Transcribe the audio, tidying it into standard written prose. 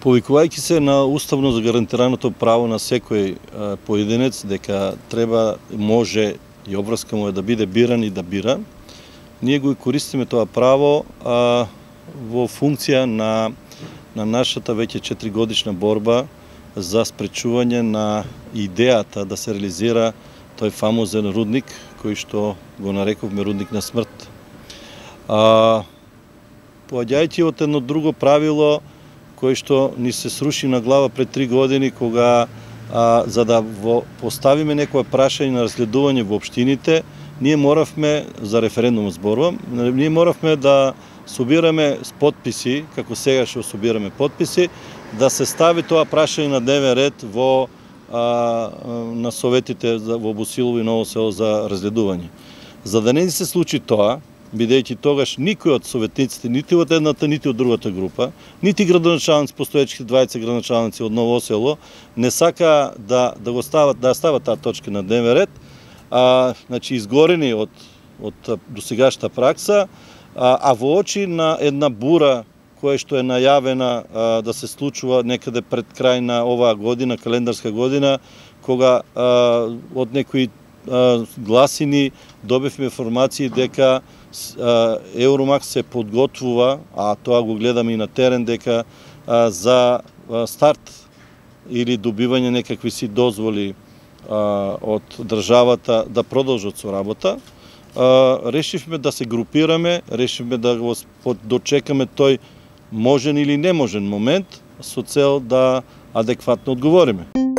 Повикувајќи се на уставно загарантираното право на секој поединец дека треба, може и обврска му е да биде биран и да бира, ние го користиме тоа право во функција на нашата веќе 4-годишна борба за спречување на идејата да се реализира тој фамозен рудник кој што го нарековме рудник на смрт. Поаѓајќи од едно друго правило кој што ни се сруши на глава пред 3 години, кога за да поставиме некоја прашање на разгледување во општините, ние моравме, за референдум зборувам, ние моравме да собираме подписи, како сега што собираме подписи, да се стави тоа прашање на дневен ред на советите во Босилово и Ново село за разгледување. За да не се случи тоа, бидејќи тогаш никој од советниците, нити од едната, нити од другата група, нити градоначалници, постоечките 20 градоначалници од Ново село, не сака да стават таа точка на дневен ред, значи изгорени од досегашната пракса, а во очи на една бура која што е најавена да се случува некаде пред крај на оваа година, календарска година, кога од некои гласини добивме информации дека Евромакс се подготвува, а тоа го гледаме и на терен, дека за старт или добивање некакви си дозволи од државата да продолжат со работа, решивме да се групираме, решивме да го дочекаме тој можен или неможен момент со цел да адекватно одговориме.